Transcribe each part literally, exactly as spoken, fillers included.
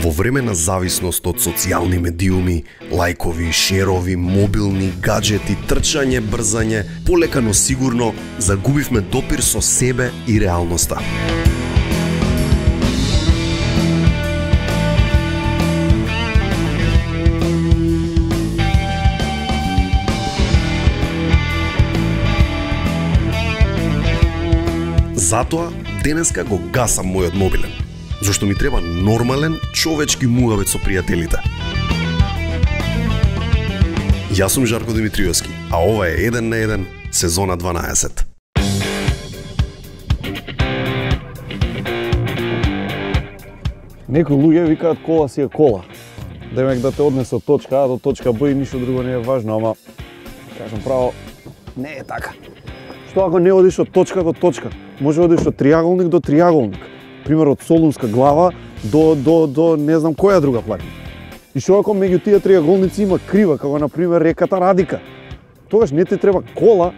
Во време на зависност од социјални медиуми, лајкови, шерови, мобилни, гаджети, трчање, брзање, полека но сигурно загубивме допир со себе и реалноста. Затоа денеска го гасам мојот мобилен, зашто ми треба нормален човечки муавет со пријателите. Јас сум Жарко Димитриевски, а ова е еден на еден, сезона дванаесет. Некои луѓе викаат кола си е кола. Демек да те однесе од точка А до точка Б и ништо друго не е важно, ама кажам право, не е така. Што ако не одиш од точка до точка? Може одиш од триаголник до триаголник. Пример од Солунска глава до до до не знам која друга планина. И што ако меѓу тие триаголници има крива, како на пример реката Радика? Тогаш не ти треба кола,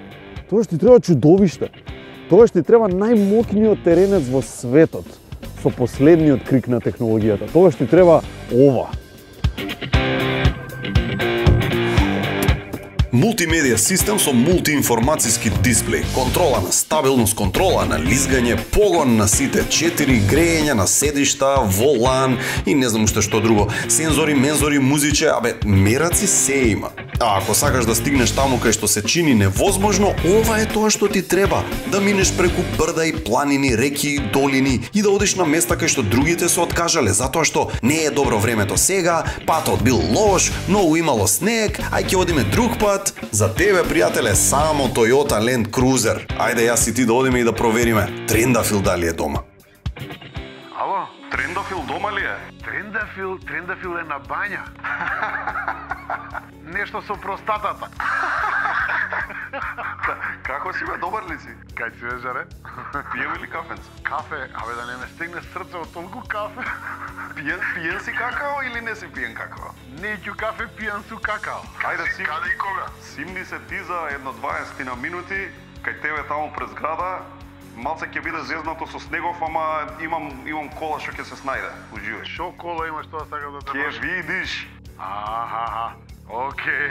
тогаш ти треба чудовиште. Тогаш ти треба најмокниот теренец во светот со последниот крик на технологијата. Тогаш ти треба ова. Мултимедија систем со мултиинформацијски дисплеј, контрола на стабилност, контрола на лизгање, погон на сите четири, грејење на седишта, волан и не знам уште што друго. Сензори, мензори, музиче, абе, мераци се има. А ако сакаш да стигнеш таму кај што се чини невозможно, ова е тоа што ти треба. Да минеш преку брда и планини, реки и долини и да одиш на места кај што другите се откажале, затоа што не е добро времето сега, патот бил лош, многу имало снег, ај ќе одиме друг пат. За тебе, пријателе, само Toyota Land Cruiser. Ајде јас и ти да одиме и да провериме Трендафил дали е дома. Ало, Трендафил дома ли е? Трендафил, Трендафил е на бања. Нешто со простатата. Како си бе, добар ли си? Кај си бе, Жаре? Пиеме ли кафенце? Кафе? Абе да не ме стигне срце од толку кафе. Пиен, пиен си какао или не си пиен какао? Неќу кафе пиен су какао. Ајде си. Каде и кога? Симни се ти за едно дваесет на минути, кај тебе таму през града. Малце ќе биде зезнато со снегов, ама имам имам кола што ќе се снајде. Уживај. Шо кола имаш, тоа сакам да те Ќе видиш. Аха, окей,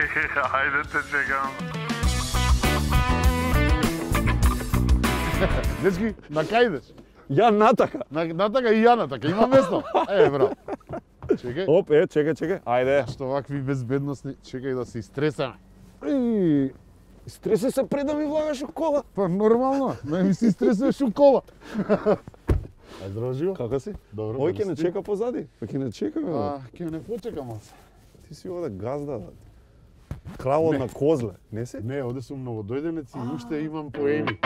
ајде те чекам. Дечки, на кај идеш? Ја натака. На, натака и ја натака, има место. Е, бро. Чекај. Оп, е, чекај, чекај. Ајде. Што вакви безбедносни, чекај да се истресаме. И стреси се пред да ми влагаш у кола. Па нормално, не ми се истресуваш у кола. А здраво живо? Како си? Добро. Ој ќе не чека позади. Па ќе не чека, бе. А, ќе не почекам аз. Ти си овде газда. Кралот на козле, не си? Не, оде сум новодојденец и уште имам поени.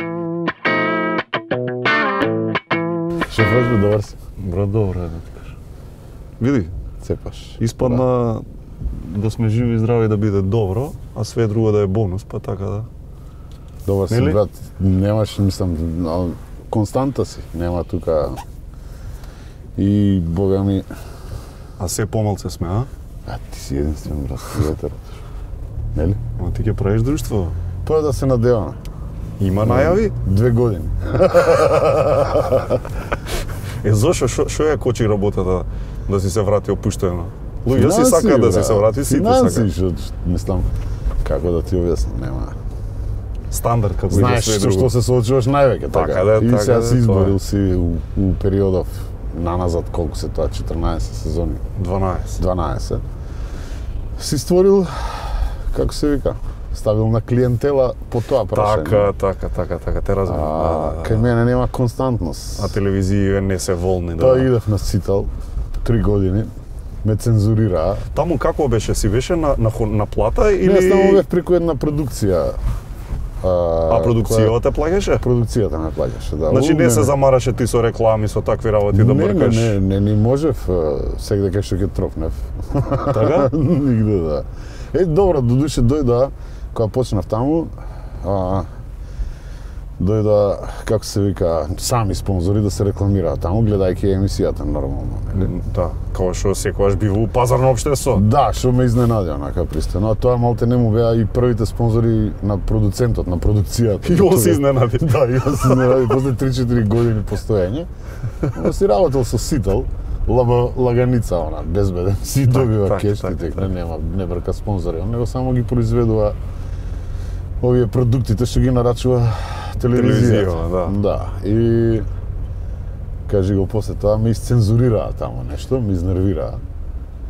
Шеф, добар си. Бро, добро е да ти кажа. Види, Цепаш. испадна да сме живи и здрави да биде добро, а све друго да е бонус, па така да. Добар си, Нели? брат. Немаш, мислам, константа си. Нема тука... И, бога ми... А се помалце сме, а? А, ти си единствен, брат. Ветер. Нели? Ама ти ќе правиш друштво. Тоа да се надеваме. Има најави? Две години. Е, зошо, шо, шо ја кочи работата да си се врати опуштено? Луѓе си Финанси, сакаат да си брат. се врати, сите Финанси, сакаат. што, мислам, како да ти објаснам, нема... Стандард како и за Знаеш све со друго. што се соочуваш највеќе, така? Така да, И така сега да, си тоа е. изборил си у, у периодов наназад, колку се тоа, четрнаесет сезони, дванаесет. дванаесет. Си створил, како се вика, ставил на клиентела по тоа прашање. Така, така, така, така, те разбирам. А, Да, да, кај да. мене нема константност. А телевизија не се волни, да. Тоа идев на Цитал, три години, ме цензурираа. Таму како беше? Си беше на, на, хо- на плата или... Не, само бев преку една продукција. А, А продукцијата те плаќаше? Продукцијата ме плаќаше, да. Значи У, не се замараше ти со реклами, со такви работи да не, бркаш? Не, не, не, не можев сегде кај што ќе тропнев. Така? Нигде, да. Е, добро, додуше дојда, кога почнав таму, а, дојда, како се вика, сами спонзори да се рекламираат таму, гледајќи емисијата нормално. Нели? Да, како што секогаш бива у пазарно општество. Да, што ме изненади онака пристано. А тоа малте не му беа и првите спонзори на продуцентот, на продукцијата. И он се изненади. Да, и он се изненади после три-четири години постоење. Он си работел со Сител, лаба, лаганица, она, безбеден. Си добива так, кеш, так, ти тек, так. нема, не брка спонзори, он него само ги произведува овие продуктите што ги нарачува телевизија. Телевизија, да. Да, и кажи го после тоа, ме исцензурираа таму нешто, ме изнервираа.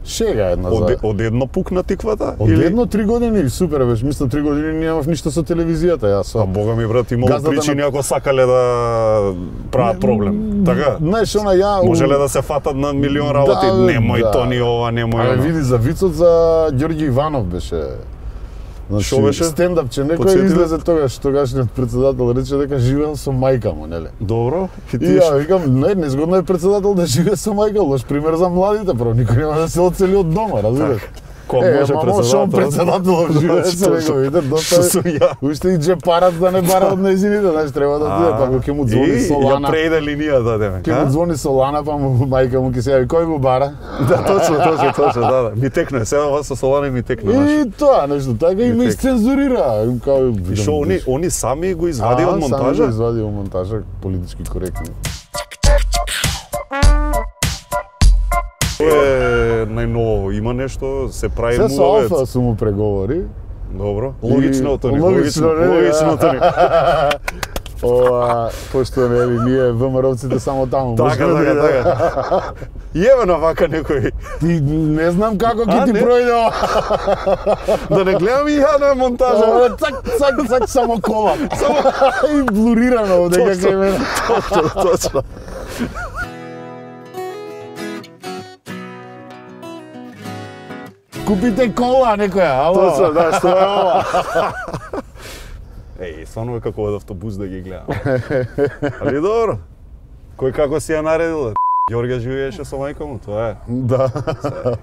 Шега една за... Од, од едно пукна тиквата? Од или- едно три години, супер беше, мислам три години немав ништо со телевизијата, јас со... А бога ми брат, имало Газдата причини на- ако сакале да прават проблем. Така? Знаеш, она ја... Можеле да се фатат на милион работи, Да, немој да. то ни ова, немој Абе, она. види, за вицот за Ѓорѓи Иванов беше. Значи, Шо беше? стендап, че некој Потсети ме. излезе тогаш, тогашниот председател рече дека живеел со мајка му, нели? Добро, и И ти ја викам, не, незгодно е председател да живее со мајка, лош пример за младите, право никој нема да се оцели од дома, разбираш? Кој Е, може мамо, шо председателот живее Значи, со тоа него, што- видите, што доста сум ја. уште и джепарац да не бара од нејзините, знаеш, треба да отиде, па ќе му звони И ја Солана. прејде линијата, деме. Ќе му звони Солана, па му мајка му ќе се јави, кој го бара? Да, точно, точно, точно, да, да. Ми текне, сега ова со Солани ми текне, знаеш. И тоа нешто, така и ме тек. исцензурира. Као, И шо, они, они сами го извади од Сами го монтажа? извади од монтажа, политички коректни. Тоа е најново, има нешто, се прави Се со мувовец. Алфа су му преговори. Добро. И- Логично, Тони, логично, логично, нели, логично, да. Тони. Ова, пошто нели ние ВМРО-ците само таму Така, можеме така, да- така. Јеве на вака некој. Ти не знам како ќе А, ти не? пројде ова. Да не гледам и ја на монтажа. Ова, Цак, цак, цак, само кола. И блурирано овде Точно. како име. Точно, точно. Купите кола некоја, ало. Точно, да, што е ова? Еј, стварно е како од автобус да ги гледам. Али добро. Кој како си ја наредил? Ѓорѓе живееше со мајка му, тоа е. Да.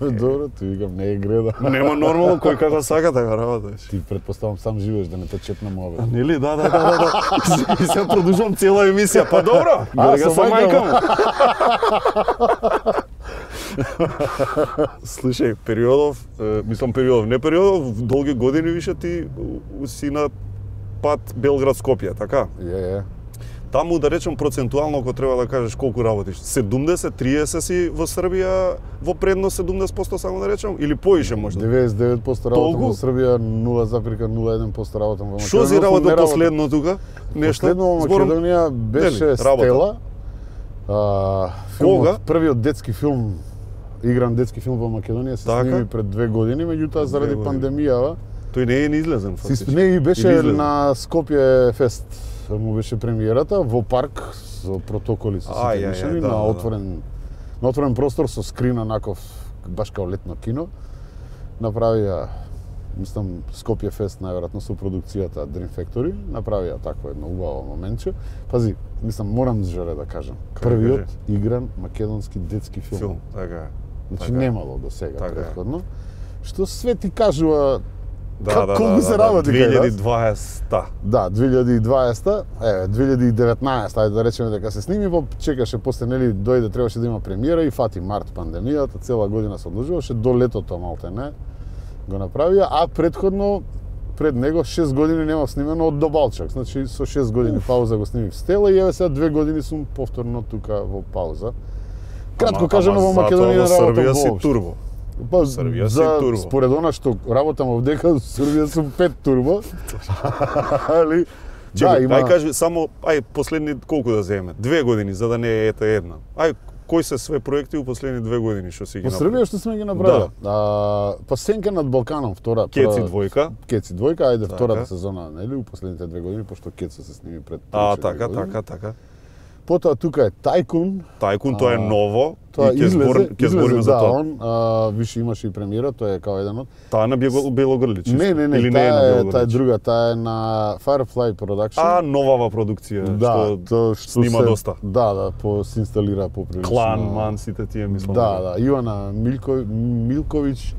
Добро, ти викам, не е греда. Нема нормално кој како сака така работиш. Ти предпоставам сам живееш да не те чепна мобил. Нели, да, да, да, да, да. И се продолжувам цела емисија. Па добро, Ѓорѓе со со мајка мајка му. Слушај, периодов, е, мислам периодов, не периодов, долги години више ти у- си на пат Белград-Скопје, така? Е, е. Таму да речем процентуално ако треба да кажеш колку работиш, седумдесет триесет си во Србија, во предност седумдесет проценти само да речем или поише можда. деветдесет и девет проценти работам Толку? во Србија, нула зарез нула еден проценти работам во Македонија. Што си но работил не последно тука? Нешто? Последно во Зборам- Македонија беше Нели, работа? Стела. А, филмот, Кога? првиот детски филм, игран детски филм во Македонија се Така? сними пред две години, меѓутоа заради години. пандемијава Тој не е ни излезен Си фактички. не и беше Или излезен? на Скопје фест. Му беше премиерата во парк со протоколи со Ај, сите ај, мишени ај, да, на да. отворен на отворен простор со скрин онаков баш као летно кино. Направија мислам Скопје фест најверојатно со продукцијата Dream Factory, направија такво едно убаво моментче. Пази, мислам морам жале да кажам. Кај Првиот кажи? игран македонски детски филм. Филм, така е. Значи така е. немало до сега Така е. претходно. Што све ти кажува Да, Ка- да, колку да, се да, работи кај нас? две илјади и дваесетта. Да, две илјади и дваесетта, еве, две илјади и деветнаесетта, ајде да речеме дека се сними, па чекаше после нели дојде требаше да има премиера и фати март пандемијата, цела година се одложуваше до летото малтене го направија, а претходно пред него шест години нема снимено од Добалчак. Значи со шест години пауза го снимив Стела и еве сега две години сум повторно тука во пауза. Кратко Ама- кажано ама во затоа Македонија во Србија работам си воопшто. турбо. Па, Србија си за, турбо. според она што работам овдека, во Србија сум пет турбо. Али, да, Чекај, има... ај кажи само ај последни колку да земе? Две години за да не е ета една. Ај кои се све проекти у последни две години што си ги Во направи? Србија што сме ги направиле? А, па Сенка над Балканом, втора. Кеци прва- двојка. Кеци двојка, ајде Така. втората сезона, нели, у последните две години, пошто Кеца се сними пред А, три-четири така, години. така, така. Потоа тука е Тајкун. Тајкун тоа е А, ново. Тоа и ќе излезе, збор, ќе збориме излезе, за да, тоа. он, а, више имаше и премиера, тоа е као еден од... Таа на Бело- Белогрлич. Не, не, не, Или не е таа на е, Белогрлич? таа е друга, таа е на Firefly Production. А, новава продукција, да, што тоа што снима се, доста. Да, да, по се инсталира поприлично. Клан, Ман, сите тие мислам. Да, да, Ивана Милко, Милковиќ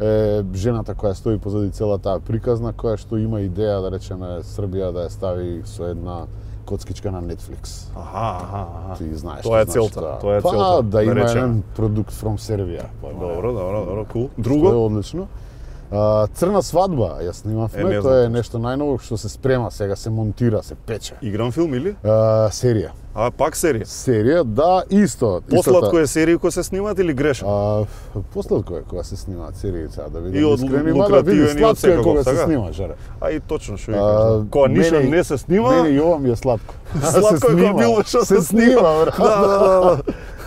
е жената која стои позади цела таа приказна, која што има идеја да речеме Србија да ја стави со една коцкичка на Netflix. Аха, аха, аха. Ти знаеш. Тоа е ти знаеш целта, тоа. тоа е па, целта, да има речеме. еден продукт from Сербија. Па, Добро, добро, добро, кул. Што е Друго? одлично. А, Црна свадба ја снимавме, Е, не тоа е знам. нешто најново што се спрема, сега се монтира, се пече. Игран филм или? А, серија. А, пак серија. Серија, да, исто. Посладко е серии кои се снимаат или грешам? А, посладко е кога се снимаат серии, сега да видим. И од искрени, лу- мада види, лукративен и од сладко е секако, кога се така? снима, жаре. А и точно што ви А, кажам. Кога ништо мене- не се снима, Мене и ова ми е сладко. сладко е кога било што се снима. брат. Да, да, да, да.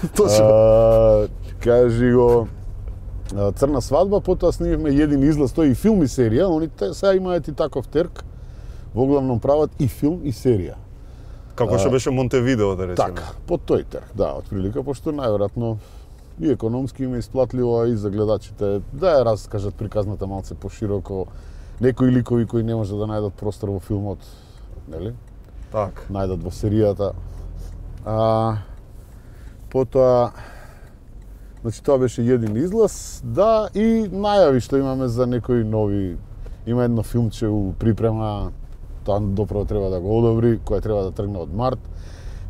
Точно. А, кажи го, а, Црна свадба, потоа снимивме еден излаз, тој и филм и серија, они те сега имаат и таков терк, во главном прават и филм и серија. Како што беше Монтевидео, да речеме. Така, по тој терк, да, отприлика, пошто најверојатно и економски им е исплатливо, а и за гледачите да ја раскажат приказната малце пошироко, некои ликови кои не може да најдат простор во филмот, нели? Так. Најдат во серијата. А, потоа, значи тоа беше еден излаз, да, и најави што имаме за некои нови, има едно филмче у припрема, тоа доправо треба да го одобри, која треба да тргне од март.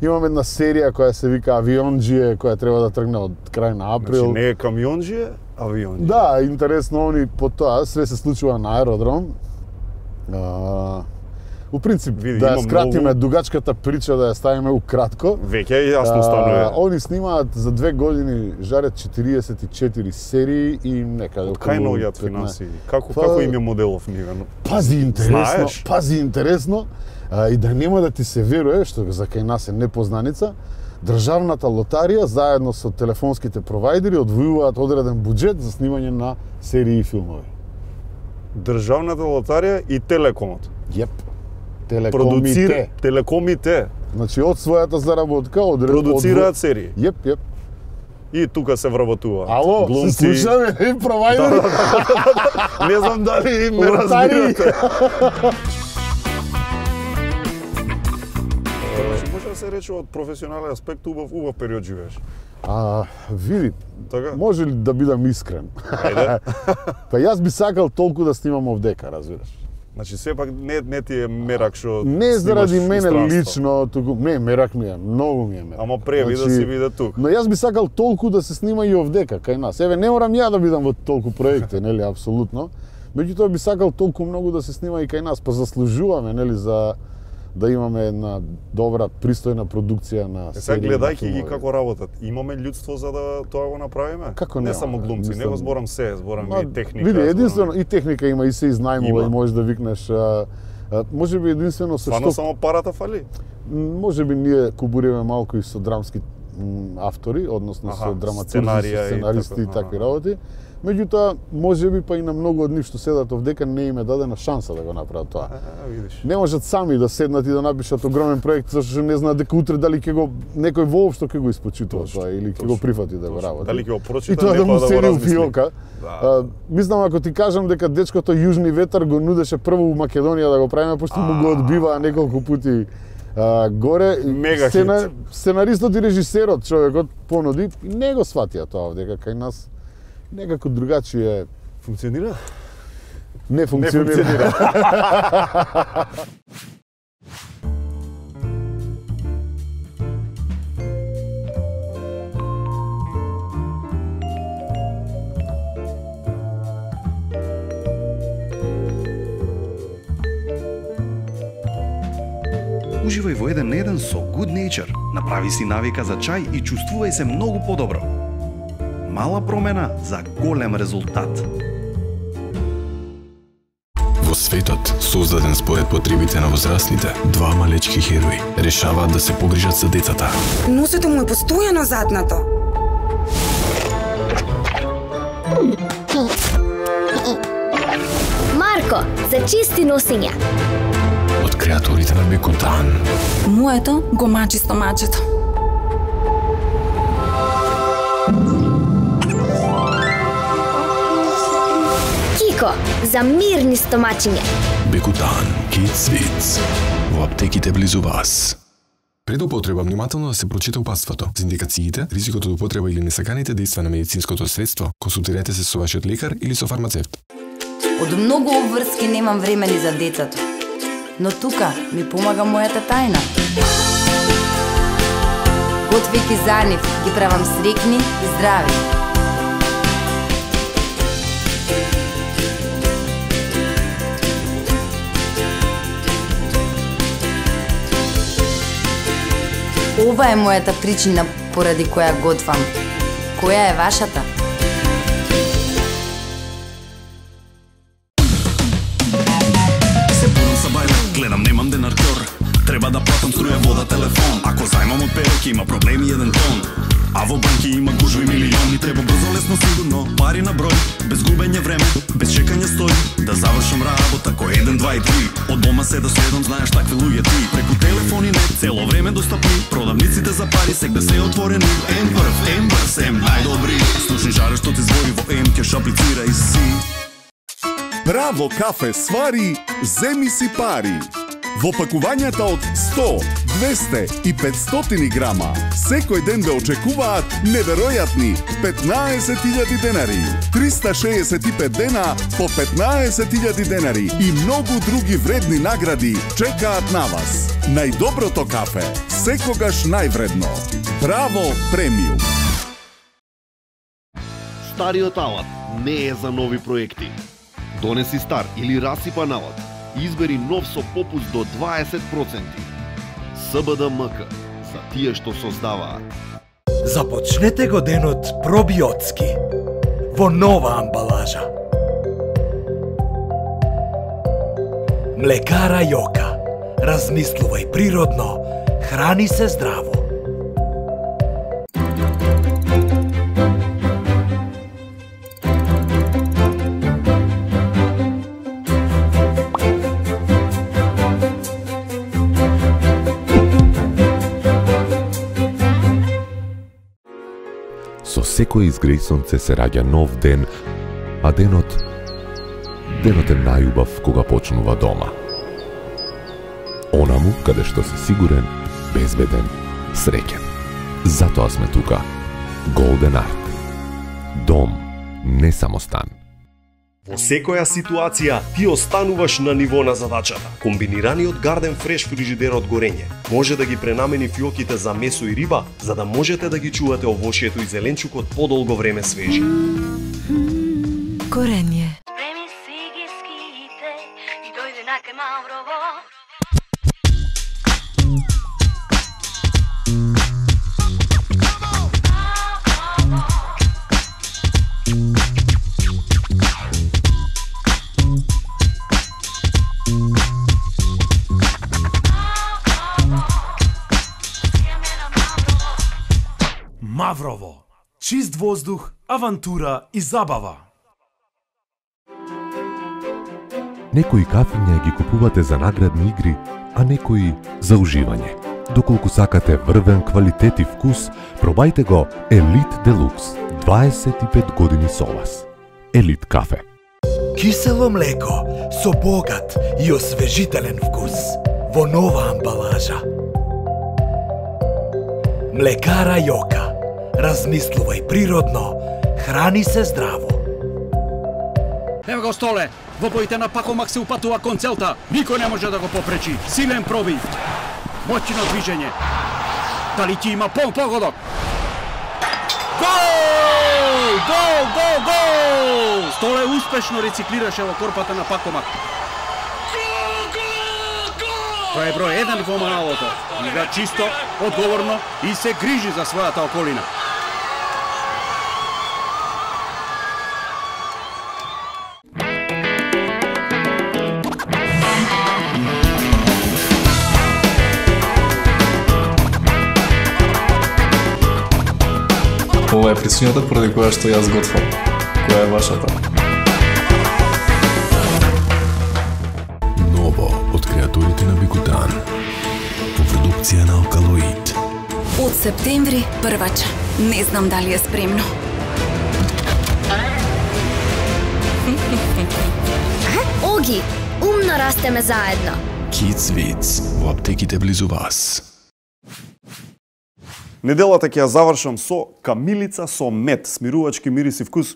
Имаме една серија која се вика Авионџие, која треба да тргне од крај на април. Значи не е камионџие, авионџие. Да, интересно, они по тоа све се случува на аеродром. А, у принцип, Види, да ја има скратиме многу- дугачката прича, да ја ставиме укратко. Веќе е јасно А, станува. Они снимаат за две години, жарат четириесет и четири серии и некаде Од кај околу наоѓаат петнаесет. финансии? Како Па- како им е моделов нивен? Пази интересно, Знаеш? пази интересно, а, и да нема да ти се веруе, што за кај нас е непознаница, Државната лотарија заедно со телефонските провајдери одвојуваат одреден буџет за снимање на серии и филмови. Државната лотарија и Телекомот. Јеп. Продуцира Телекомите. телекомите Значи, од својата заработка, од... продуцираат серии. Јеп, јеп. И тука се вработуваат. Ало, глумци. се слушаме, и провајдери. Не знам дали ме Лотари. разбирате. Значи, може да се рече од професионален аспект убав убав период живееш. А, види, Така? може ли да бидам искрен? Ајде. Па јас би сакал толку да снимам овдека, разбираш. Значи сепак не не ти е мерак што Не заради снимаш мене странство. лично, туку не, мерак ми е, многу ми е мерак. Ама преви да си биде тук. Но јас би сакал толку да се снима и овдека кај нас. Еве, не морам ја да бидам во толку проекти, нели, апсолутно. Меѓутоа би сакал толку многу да се снима и кај нас, па заслужуваме, нели, за да имаме една добра, пристојна продукција на Е, сега серии, гледајќи на ги филмови. како работат, имаме људство за да тоа го направиме? Како Не нема, само глумци, мислам- него зборам се, зборам Ма, и техника. Види, зборам- единствено и техника има и се изнајмува Има. и можеш да викнеш а, а, може би единствено со Стварно што само парата фали? може би ние кубуриме малку и со драмски м, автори, односно Аха, со драматурзи, сценарија со и сценаристи и, така, такви аха. работи. Меѓутоа, може би па и на многу од нив што седат овдека не им е дадена шанса да го направат тоа. А, видиш. Не можат сами да седнат и да напишат огромен проект, зашто што не знаат дека утре дали ќе го некој воопшто ќе го испочитува Точно, тоа или ќе точно, го прифати да го точно. работи. Дали ќе го И прочита, тоа не да па му да го седи у размисли. фиока. Да. А, мислам, ако ти кажам дека дечкото Јужни ветар го нудеше прво у Македонија да го правиме, пошто му го одбиваа неколку пути а, горе. Мега Сцена, сценаристот и режисерот, човекот понуди, и не го сватија тоа овдека кај нас. Некако другачие Функционира? не Не функционира. функционира. Уживај во еден на еден со Good Nature. Направи си навика за чај и чувствувај се многу подобро. Мала промена за голем резултат. Во светот, создаден според потребите на возрастните, два малечки херои решаваат да се погрижат за децата. Носето му е постојано затнато. Марко, за чисти носења. Од креатурите на Бекутан. Моето го мачи стомачето. Кико, за мирни стомачиња. Бекутан, Kids Wits. Во аптеките близу вас. Пред употреба внимателно да се прочита упатството. За индикациите, ризикот од употреба или несаканите дејства на медицинското средство, консултирайте се со вашиот лекар или со фармацевт. Од многу обврски немам време ни за децата. Но тука ми помага мојата тајна. Готвејќи за нив, ги правам срекни и здрави. Ова е мојата причина поради која готвам. Која е вашата? Се будам са бајле, гледам немам денаркор. Треба да платам струја, вода, телефон. Ако зајмам од перек има проблеми еден тон. А во банки има гужви милиони. Треба брзо, лесно, сигурно, пари на број. Без губење време, без чекање стои. Да завршам работа кој еден, два и три. Од дома се да следам, знаеш такви луѓе ти. Преку телефони не, цело време достапни. Продавниците за пари сегде се отворени. Ем прв, ем брз, ем најдобри. Слушни жаре што ти збори во ем, кеш аплицирај си. Браво кафе свари, земи си пари. Во пакувањата од сто, двесте и петстотини грама, секој ден ве очекуваат неверојатни петнаесет илјади денари, триста шеесет и пет дена по петнаесет илјади денари и многу други вредни награди чекаат на вас. Најдоброто кафе, секогаш највредно. Браво премиум. Стариот алат не е за нови проекти. Донеси стар или расипан алат. Избери нов со попуст до дваесет проценти. СБДМК, за тие што создаваат. Започнете го денот пробиотски во нова амбалажа. Млекара Јока. Размислувај природно, храни се здраво. Со секој изгреј сонце се раѓа нов ден, а денот, денот е најубав кога почнува дома. Онаму каде што си сигурен, безбеден, среќен. Затоа сме тука. Голден Арт. Дом, не само стан. Во секоја ситуација ти остануваш на ниво на задачата. Комбинираниот Garden Fresh фрижидер од горење може да ги пренамени фиоките за месо и риба, за да можете да ги чувате овошјето и зеленчукот подолго време свежи. Горење. Маврово. Чист воздух, авантура и забава. Некои кафиња ги купувате за наградни игри, а некои за уживање. Доколку сакате врвен квалитет и вкус, пробајте го Елит Делукс. дваесет и пет години со вас. Елит кафе. Кисело млеко со богат и освежителен вкус во нова амбалажа. Млекара Јока. Размислувај природно, храни се здраво. Ево го Столе, во боите на Пакомак се упатува кон целта. Никој не може да го попречи. Силен пробив. Моќно движење. Дали ти има пол погодок? Гол! Гол, гол, гол! Столе успешно рециклираше во корпата на Пакомак. Тој е број еден во малото. Игра чисто, одговорно и се грижи за својата околина. Ова е причината поради која што јас готвам. Која е вашата? Ново од креаторите на Бикутан. По продукција на Алкалоид. Од септември првача. Не знам дали е спремно. Оги, умно растеме заедно. Kids Wits во аптеките близу вас. Неделата ќе ја завршам со камилица со мед, смирувачки мирис и вкус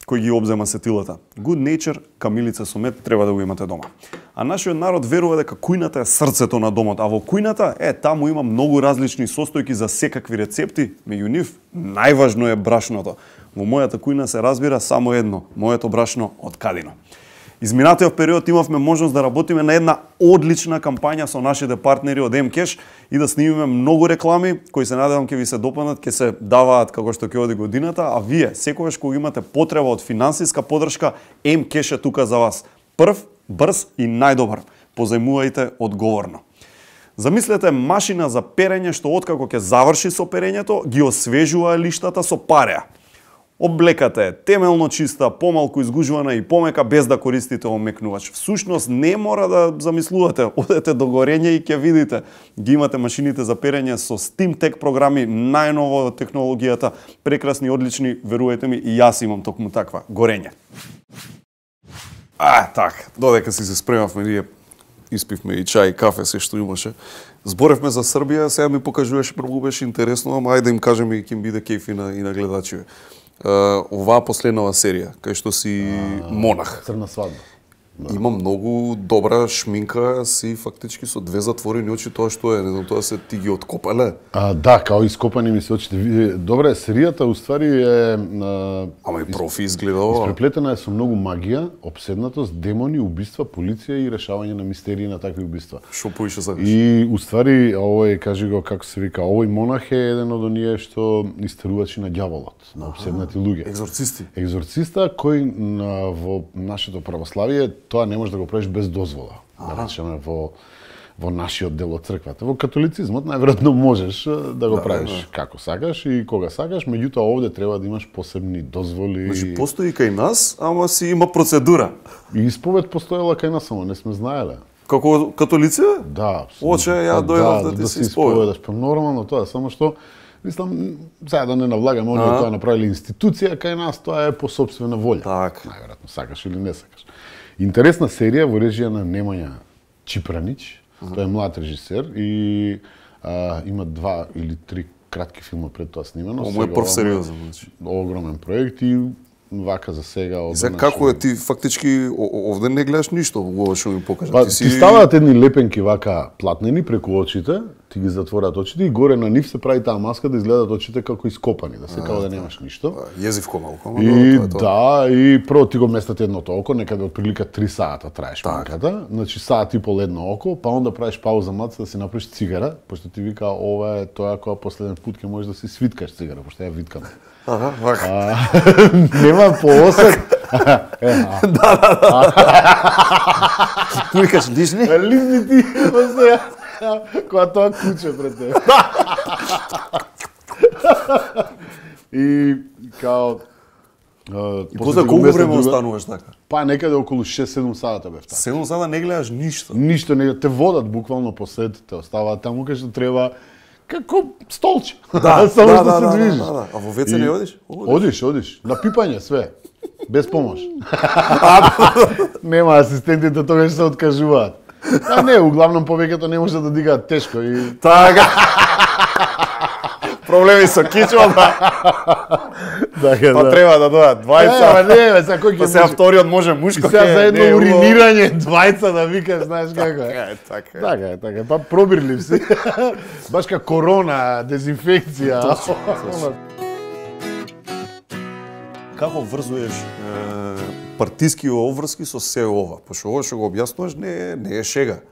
кој ги обзема сетилата. Good Nature, камилица со мед, треба да го имате дома. А нашиот народ верува дека кујната е срцето на домот, а во кујната, е, таму има многу различни состојки за секакви рецепти, меѓу нив најважно е брашното. Во мојата кујна се разбира само едно, моето брашно од Кадино. Изминатиот период имавме можност да работиме на една одлична кампања со нашите партнери од М-Кеш и да снимиме многу реклами кои се надевам ќе ви се допаднат, ќе се даваат како што ќе оди годината, а вие секогаш кога имате потреба од финансиска поддршка, М-Кеш е тука за вас. Прв, брз и најдобар. Позајмувајте одговорно. Замислете машина за перење што откако ќе заврши со перењето, ги освежува лиштата со пареа. Облеката е темелно чиста, помалку изгужвана и помека без да користите омекнувач. Всушност не мора да замислувате, одете до горење и ќе видите. Ги имате машините за перење со SteamTech програми, најново од технологијата, прекрасни, одлични, верувајте ми, и јас имам токму таква, горење. А, так, додека си се спремавме, ние испивме и чај, и кафе, се што имаше. Зборевме за Србија, сега ми покажуваше, многу беше интересно, ама ајде им кажеме и ќе им биде кејф и на, и на гледачи. Uh, оваа последнава серија, кај што си uh, монах. Црна свадба. Да. Има многу добра шминка, си фактички со две затворени очи, тоа што е, не знам, тоа се ти ги откопале. А, да, као ископани ми се очите. Добре, серијата уствари е... А, Ама и профи изгледа ова. Испреплетена е со многу магија, обседнатост, демони, убиства, полиција и решавање на мистерии на такви убиства. Шо поише сакаш? И уствари, овој, кажи го, како се вика, овој монах е еден од оние што истерувачи на ѓаволот, на обседнати луѓе. Екзорцисти. Екзорциста кој на, во нашето православие тоа не можеш да го правиш без дозвола. Да речеме во во нашиот дел од црквата. Во католицизмот најверојатно можеш да го да, правиш да. како сакаш и кога сакаш, меѓутоа овде треба да имаш посебни дозволи. Значи постои кај нас, ама си има процедура. И исповед постоела кај нас, ама не сме знаеле. Како католици? Да. Оче, ја дојдов да, да, да ти се исповедаш. Па нормално тоа, само што мислам, сега да не навлагаме, они тоа направиле институција кај нас, тоа е по сопствена волја. Так. Најверојатно сакаш или не сакаш. Интересна серија во режија на Немања Чипранич. Uh -huh. Тој е млад режисер и а, има два или три кратки филма пред тоа снимено. Ово е прв сериозен, значи. Огромен проект и вака за сега. И сега како е ти фактички овде не гледаш ништо, ова што ми покажа. Па, ти, си... ти ставаат едни лепенки вака платнени преку очите, ти ги затворат очите и горе на нив се прави таа маска да изгледаат очите како ископани, да се како да немаш ништо. Језивко малку, и тоа, тоа. Да, и прво ти го местат едното око, некаде од прилика три сата трае шминката, значи саат и пол едно око, па онда правиш пауза маца да си направиш цигара, пошто ти вика ова е тоа кога последен пат ќе можеш да си свиткаш цигара, пошто ја виткам. Ага, вака. Нема поосет. Да, да, да. Ти викаш, дишни? Лизни ти, сега, кога тоа куче пред тебе. И као... И после колку време остануваш така? Па некаде околу шест-седум сата бев така. седум сата не гледаш ништо? Ништо, не, те водат буквално по сет, те оставаат таму кај што треба како столче. Да, само да, што да, се да, движиш. Да, да. А во веце не одиш? Одиш, одиш. На пипање све. Без помош. Нема асистентите тогаш се откажуваат. А не, углавном повеќето не може да дигаат тешко и така. Проблеми со кичмата. Така, па да. треба да дојдат двајца. Е, не, бе, сега кој ќе може? Сега вториот може мушко. И сега за едно уринирање двајца да викаш, знаеш како е. Така е, така е. Така е, така е. Па пробирлив си. Баш ка корона, дезинфекција. Како врзуеш е, партиски обврски со се ова? Пошто ова што го објаснуваш не е, не е шега.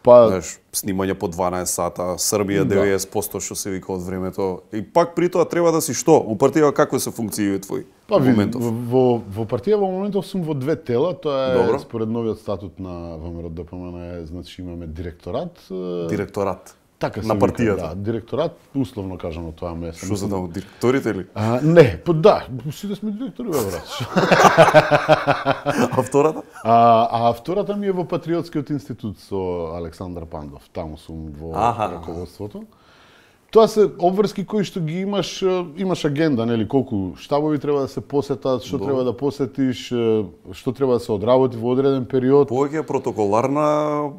Па, знаеш, снимање по дванаесет сата, Србија деветдесет проценти што се вика од времето. И пак при тоа треба да си што? У партија како се функцији твои? Па види, во, во партија во моментов сум во две тела, тоа е добро. Според новиот статут на ВМРО-ДПМН е, значи имаме директорат. Директорат. Така се на партијата. Вика, да, директорат, условно кажано тоа ме. Што се таму директорите или? А, не, па да, сите сме директори, бе брат. А втората? А, а втората ми е во Патриотскиот институт со Александар Пандов. Таму сум во аха, раководството. Тоа се обврски кои што ги имаш, имаш агенда, нели, колку штабови треба да се посетат, што Добре. треба да посетиш, што треба да се одработи во одреден период. Повеќе протоколарна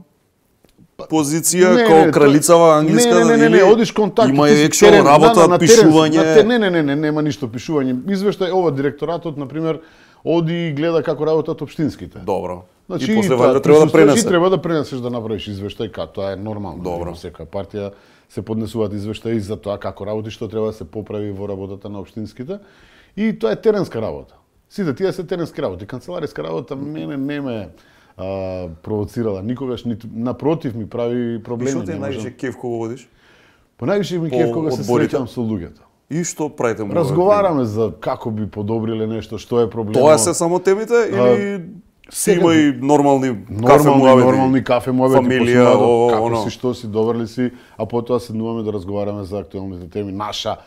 позиција како кралицава англиска, не, не, не, не, одиш контакт, има екшо работа, на, на пишување. Терен, не, не, не, не, нема ништо пишување. Извештај ова директоратот на пример оди и гледа како работат општинските. Добро. Значи, и после вајде треба да пренесе. Треба да пренесеш да направиш извештај, како тоа е нормално. Добро. Во секоја партија се поднесуваат извештаи за тоа како работи, што треба да се поправи во работата на општинските. И тоа е теренска работа. Сите тие се теренски работи. Канцелариска работа мене не ме а, провоцирала никогаш, ниту напротив ми прави проблеми. Што ти највише кеф кога водиш? По највише ми кеф кога се среќам со луѓето. И што правите му? Разговараме за како би подобриле нешто, што е проблемот. Тоа се само темите или си има и нормални кафе нормални, нормални кафе муабети, фамилија, о, како оно. си, што си, добар ли си, а потоа седнуваме да разговараме за актуелните теми. Наша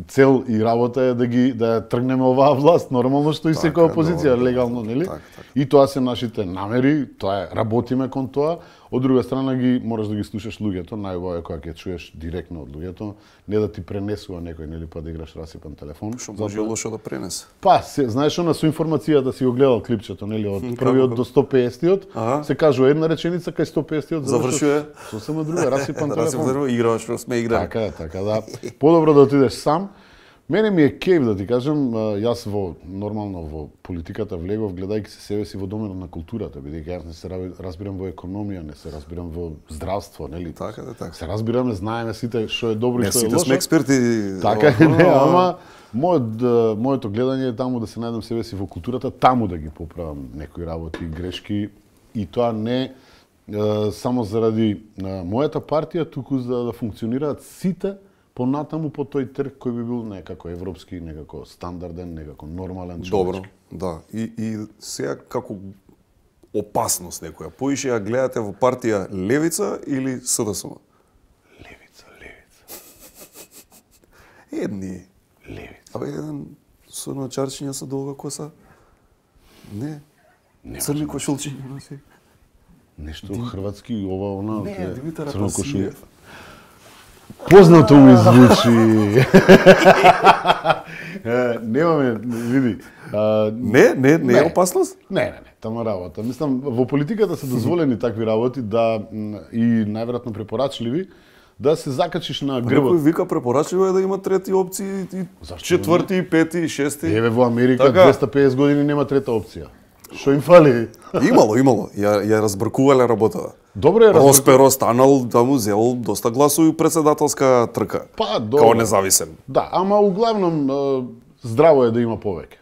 цел и работа е да ги да ја тргнеме оваа власт, нормално што и секоја опозиција, легално, нели? Так, так. И тоа се нашите намери, тоа е, работиме кон тоа. Од друга страна ги можеш да ги слушаш луѓето, најубаво е кога ќе чуеш директно од луѓето, не да ти пренесува некој, нели, па да играш расипан телефон. Што може лошо да пренесе? Па, се, знаеш она со информацијата си го гледал клипчето, нели, од првиот до сто песеттиот, се кажува една реченица кај сто песеттиот завршува сосема друга, расипан телефон. Играш, што сме играли. Така е, така да. Подобро да отидеш сам. Мене ми е кејф да ти кажам, јас во нормално во политиката влегов гледајќи се себе си во доменот на културата, бидејќи јас не се разбирам во економија, не се разбирам во здравство, нели? Така да, така. Се разбираме, знаеме сите што е добро и што е лошо. Не сите сме експерти. Така е, не, ама мојот моето гледање е таму да се најдам себе си во културата, таму да ги поправам некои работи, грешки и тоа не само заради мојата партија, туку за да функционираат сите понатаму по тој трг кој би бил некако европски, некако стандарден, некако нормален човечки. Добро, да. И, и сега како опасност некоја, поише ја гледате во партија Левица или СДСМ? Левица, Левица. Едни. Левица. Абе, еден со начарчиња со долга коса? Не. Не Црни кошулчиња носи. Нешто хрватски, ова, она... Не, Димитар Апасиев. Познато ми звучи. Немаме, види. Не, не, не е опасност? Не, не, не, тама работа. Мислам, во политиката се дозволени такви работи да и најверојатно препорачливи да се закачиш на грбот. Некој вика препорачливо е да има трети опции, и четврти, пети, шести. Еве во Америка двеста и песет години нема трета опција. Што им фали? Имало, имало. Ја, ја разбркувале работата. Добре е разбркувале. Росперо станал, таму зел доста гласови председателска трка. Па, добро. Као независен. Да, ама углавном здраво е да има повеќе.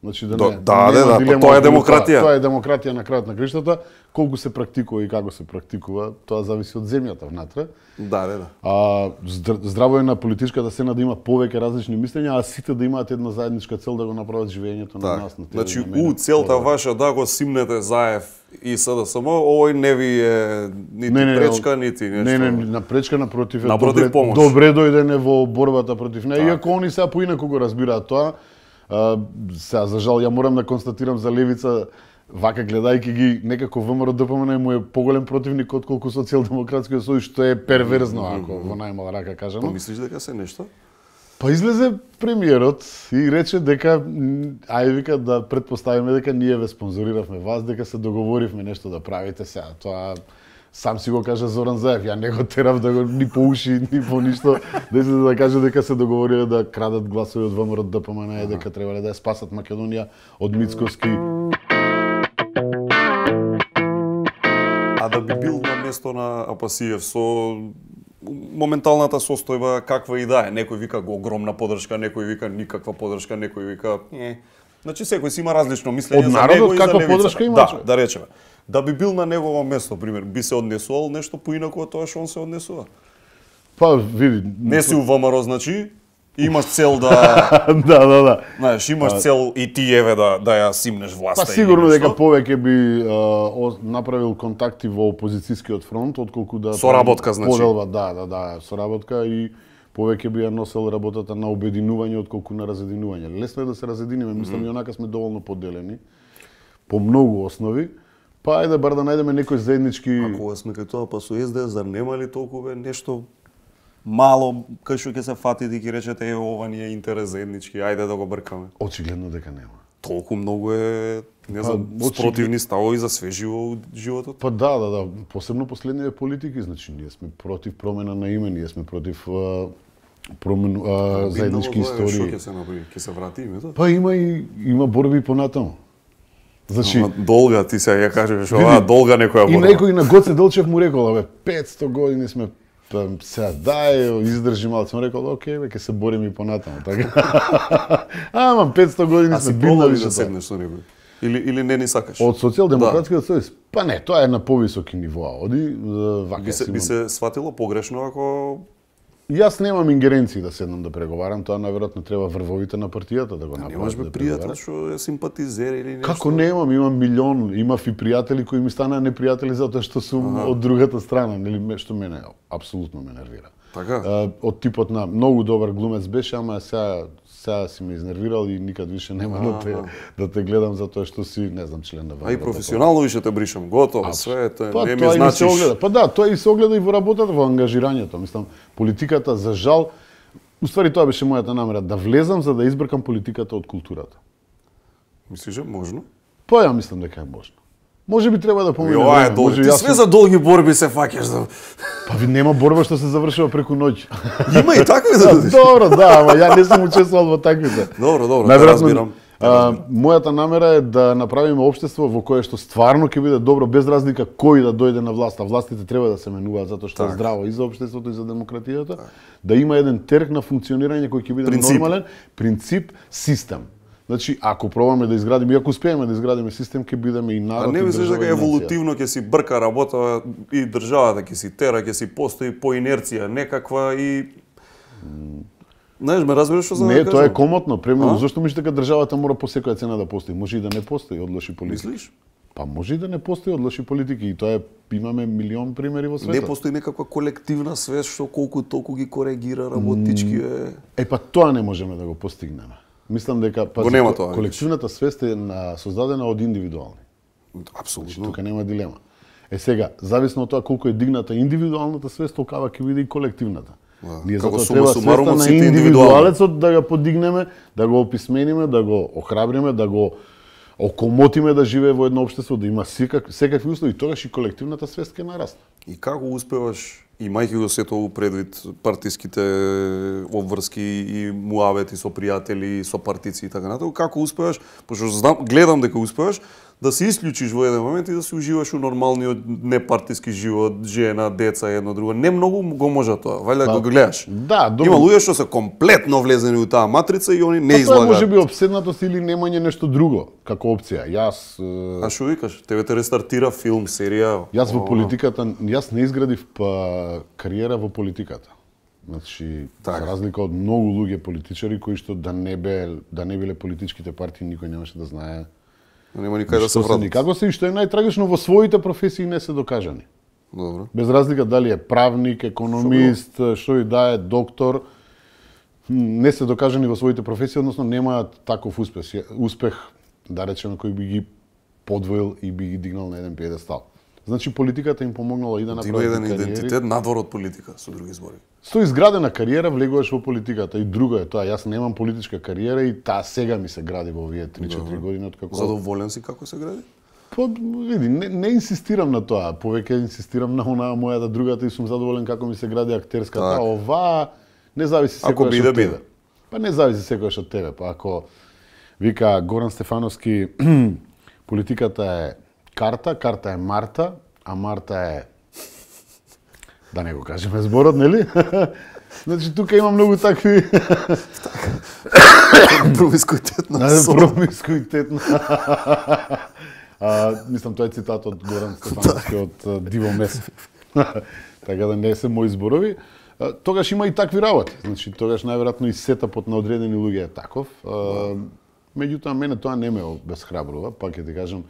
Значи да, да не, да, да, да, да, тоа е демократија. Тоа е демократија на крајот на криштата. Колку се практикува и како се практикува, тоа зависи од земјата внатре. Да, да, да. А здраво е на политичката сцена да има повеќе различни мислења, а сите да имаат една заедничка цел да го направат живењето на нас на Значи, у целта ваша да го симнете Заев и СДСМ, овој не ви е нити не, не, пречка, нити нешто. Не, не, на пречка напротив е напротив, добре, добре дојдене во борбата против неа, иако они сега поинаку го разбираат тоа. Uh, сега, за жал, ја морам да констатирам за Левица, вака гледајќи ги, некако ВМРО ДПМН му е поголем противник отколку Социјалдемократскиот сојуз, што е перверзно, ако во најмала рака кажано. Па мислиш дека се нешто? Па излезе премиерот и рече дека, ај вика да предпоставиме дека ние ве спонзориравме вас, дека се договоривме нешто да правите сега. Тоа сам си го кажа Зоран Заев, ја не го терав да го ни по уши, ни по ништо, да излезе да каже дека се договориле да крадат гласови од ВМРО ДПМН и дека требале да ја спасат Македонија од Мицкоски. А да би бил на место на Апасиев со моменталната состојба каква и да е, некој вика го огромна поддршка, некој вика никаква поддршка, некој вика е. Значи секој си има различно мислење за него и за левицата. Има, да, да речеме. Да би бил на негово место, пример, би се однесувал нешто поинаку од тоа што он се однесува. Па види, не си у ВМРО, значи имаш цел да да, да, да. Знаеш, имаш цел и ти еве да да ја симнеш власта. Па сигурно дека повеќе би а, направил контакти во опозицијскиот фронт отколку да соработка, значи. Поделба, да, да, да, соработка и повеќе би ја носел работата на обединување отколку на разединување. Лесно е да се разединиме, мислам mm -hmm. и онака сме доволно поделени по многу основи. Па ајде бар да најдеме некој заеднички. А кога сме кај тоа, па со Ес Де Ес зар нема ли толку бе нешто мало кај што ќе се фатите и ќе речете е ова ни е интерес заеднички, ајде да го бркаме. Очигледно дека нема. Толку многу е, не знам, па, спротивни ставови за све живо животот. Па да, да, да, посебно последниве политики, значи ние сме против промена на име, ние сме против а, промен, а, заеднички истории. Што ќе се направи? Ќе се врати името? Па има и има борби понатаму. Значи, ама долга, ти се ја кажеш, ова долга некоја борба. И некој на Гоце Делчев му рекол, абе, петсто години сме Па сега дај, издржи малку, сум рекол, окей, бе, ќе се борим и понатаму, така. Ама петсто години сме бивна више да седнеш со некој? Или или не ни сакаш? Од социјалдемократскиот сојуз? Па не, тоа е на повисоки нивоа. Оди вака би се би се сватило погрешно ако Јас немам ингеренции да седнам да преговарам, тоа најверојатно треба врвовите на партијата да го направат. Немаш бе да пријател што е симпатизер или нешто? Како немам, имам милион, имав и пријатели кои ми станаа непријатели затоа што сум ага. од другата страна, нели што мене апсолутно ме нервира. Така? А, од типот на многу добар глумец беше, ама сега сега си ме изнервирал и никад више нема да те да те гледам затоа што си, не знам, член на А и професионално више те бришам, готово, све е, па, не ми значиш. Па да, тоа и се огледа и во работата, во ангажирањето. Мислам, политиката за жал, уствари тоа беше мојата намера, да влезам за да избркам политиката од културата. Мислиш е можно? Па ја мислам дека е можно. Може би треба да помине време. Јоа, може ти јас... све за долги борби се фаќаш за... Па ви нема борба што се завршува преку ноќ. Има и такви да видиш. Добро, да, ама ја не сум учествувал во таквите. Добро, добро, да разбирам. А, мојата намера е да направиме општество во кое што стварно ќе биде добро без разлика кој да дојде на власт, а властите треба да се менуваат затоа што е здраво и за општеството и за демократијата, да има еден терк на функционирање кој ќе биде принцип. Нормален принцип, систем. Значи, ако пробаме да изградиме, и ако успееме да изградиме систем, ќе бидеме и народ. А не мислиш дека еволутивно ќе си брка работа и државата ќе си тера, ќе си постои по инерција некаква и знаеш, ме разбираш што за не, тоа е комотно. Премино, зошто мислиш дека државата мора по секоја цена да постои? Може и да не постои од лоши политики. Мислиш? Па може и да не постои од лоши политики и тоа е имаме милион примери во светот. Не постои некаква колективна свест што колку толку ги коригира работички е. Е па тоа не можеме да го постигнеме. Мислам дека па тоа, колективната свест е на, создадена од индивидуални. Апсолутно. Тука нема дилема. Е сега, зависно од тоа колку е дигната индивидуалната свест, толкава ќе биде и колективната. Да. Ние како затоа треба свеста на индивидуалецот да го подигнеме, да го описмениме, да го охрабриме, да го окомотиме да живее во едно општество, да има секак, секакви услови, тогаш и колективната свест ќе нарасне. И како успеваш, имајќи го сето овој предвид партиските обврски и муавети со пријатели, со партици и така натаму, како успеваш, пошто знам, гледам дека успеваш, да се исклучиш во еден момент и да се уживаш у нормалниот непартиски живот, жена, деца, едно друго. Не многу го може тоа, валјда па, го гледаш. Да, добро. Има луѓе што се комплетно влезени у таа матрица и они не па, излагаат. Тоа може би обседнатост или немање нешто друго како опција. Јас А што викаш? Тебе те рестартира филм, серија? Јас во политиката, јас не изградив па кариера во политиката. Значи, так. За разлика од многу луѓе политичари кои што да не бе да не биле политичките партии, никој немаше да знае. Нема никај да се вратат. Никако се и што е најтрагично во своите професии не се докажани. Добро. Без разлика дали е правник, економист, што и да е, доктор, не се докажани во своите професии, односно немаат таков успех, успех, да речеме, кој би ги подвоил и би ги дигнал на еден пиедестал. Значи политиката им помогнала и да направат кариери. Има еден идентитет надвор од политика, со други збори. Со изградена кариера влегуваш во политиката и друго е тоа. Јас немам политичка кариера и таа сега ми се гради во овие три-четири години откако. Задоволен си како се гради? Па види, не, не инсистирам на тоа, повеќе инсистирам на онаа мојата другата и сум задоволен како ми се гради актерската. Ова не зависи секојаш од тебе. Па не зависи секојаш од тебе. Па ако вика Горан Стефановски, политиката е карта, карта е Марта, а Марта е да не го кажеме зборот, нели? Значи тука има многу такви промискуитетна. Промискуитетна. А, мислам тоа е цитат од Горан Стефановски од Диво Месев. Така да не се мои зборови. Тогаш има и такви работи. Значи тогаш најверојатно и сетапот на одредени луѓе е таков. Меѓутоа мене тоа не ме обесхрабрува, пак ќе ти кажам,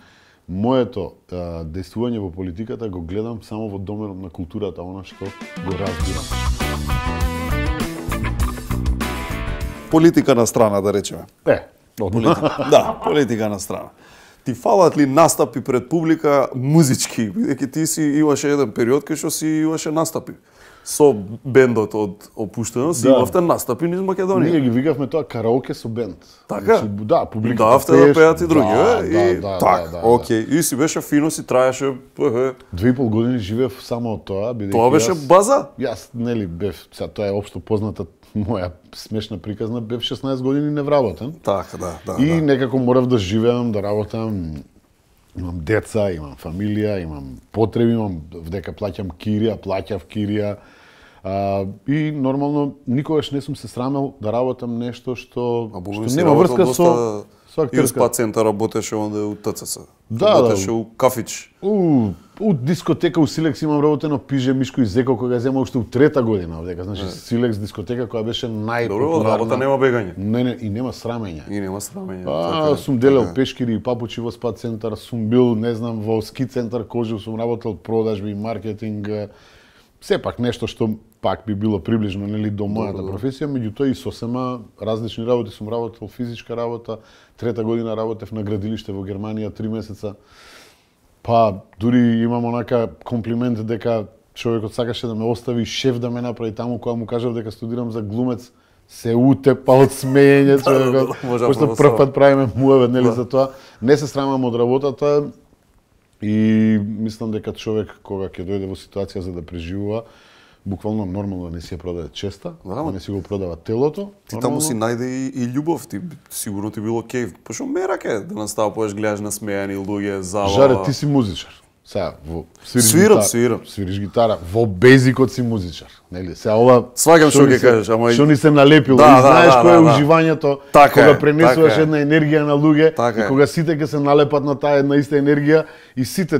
моето а, дејствување во политиката го гледам само во доменот на културата, она што го разбирам. Политика на страна, да речеме. Е, политика. Да, политика на страна. Ти фалат ли настапи пред публика музички? Бидејќи ти си имаше еден период кај што си имаше настапи. Со бендот од Опуштеност, да. Имавте настапи низ Македонија. Ние ги викавме тоа караоке со бенд. Така? Значи, да, публиката давте да пеат и други, да, е? Да, и да, так, да, да, окей. И си беше фино, си траеше, е. Две и пол години живеев само од тоа, бидејќи тоа беше јас, база? Јас нели бев, сега тоа е општо позната моја смешна приказна, бев шеснаесет години невработен. Така, да, да. И да. некако морав да живеам, да работам. Имам деца, имам фамилија, имам потреби, имам вдека плаќам кирија, плаќав кирија. А, и нормално никогаш не сум се срамел да работам нешто што а што нема врска со со актерска. И у спа актерска. центар работеше онде у ТЦС. Да, работеше да. у кафич. У у дискотека у Силекс имам работено Пиже Мишко и Зеко кога зема уште у трета година овдека. Значи Силекс дискотека која беше најпопуларна. Добро, работа нема бегање. Не, не, и нема срамење. И нема срамење. А, сум делел пешкири и папучи во спа центар, сум бил, не знам, во ски центар Кожев, сум работел продажби, маркетинг, сепак нешто што пак би било приближно нели до мојата професија, меѓутоа и сосема различни работи сум работел, физичка работа, трета година работев на градилиште во Германија три месеца. Па дури имам онака комплимент дека човекот сакаше да ме остави шеф да ме направи таму кога му кажав дека студирам за глумец, се утепа од смеење човекот. Пошто прв пат правиме муавет нели за тоа. Не се срамам од работата и мислам дека човек кога ќе дојде во ситуација за да преживува, буквално нормално да не си ја продаде честа, да не си го продава телото. Ти таму си најде и, и љубов, ти сигурно ти било кејф. Пошто мерак е да наставуваш, гледаш насмејани луѓе, зала. Жаре, ти си музичар. Сега, во свириш свирам, гитара, свирам. Свириш гитара, во безикот си музичар, нели? Сега ова сваѓам што ќе кажеш, ама што ни се налепило, да, и знаеш да, кое е да, уживањето така кога е, пренесуваш така една енергија на луѓе така и кога сите ќе се налепат на таа една иста енергија и сите